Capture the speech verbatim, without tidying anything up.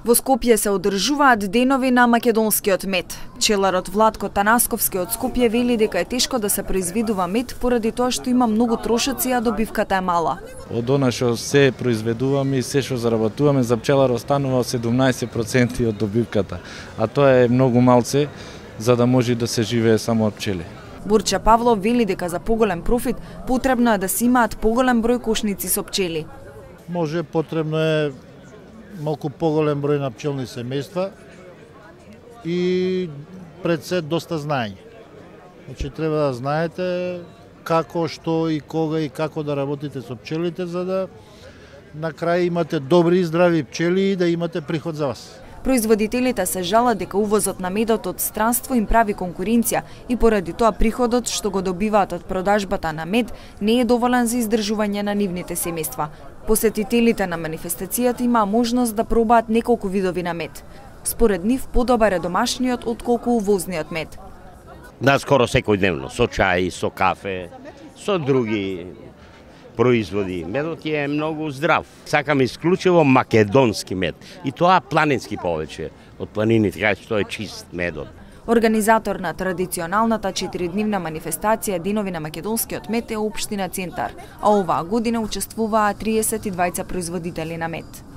Во Скопје се одржуваат денови на македонскиот мед. Пчеларот Владко Танасковски од Скопје вели дека е тешко да се произведува мед поради тоа што има многу трошоци, а добивката е мала. Од она што се произведуваме и се што заработуваме, за пчелар останува седумнаесет проценти од добивката, а тоа е многу малце за да може да се живее само од пчели. Бурча Павлов вели дека за поголем профит потребно е да се имаат поголем број кошници со пчели. Може потребно е малку поголем број на пчелни семејства и пред се доста знаење. Значи треба да знаете како, што и кога и како да работите со пчелите за да на крај имате добри и здрави пчели и да имате приход за вас. Производителите се жалат дека увозот на медот од странство им прави конкуренција и поради тоа приходот што го добиваат од продажбата на мед не е доволен за издржување на нивните семејства. Посетителите на манифестацијата имаа можност да пробаат неколку видови на мед. Според нив подобар е домашниот отколку увозниот мед. Наскоро секојдневно, со чај, со кафе, со други производи. Медот е многу здрав. Сакам исклучиво македонски мед. И тоа планински повеќе од планините, кај што е чист медот. Организатор на традиционалната четиридневна манифестација Денови на македонскиот мед е општина Центар, а оваа година учествуваа триесет и двајца производители на мед.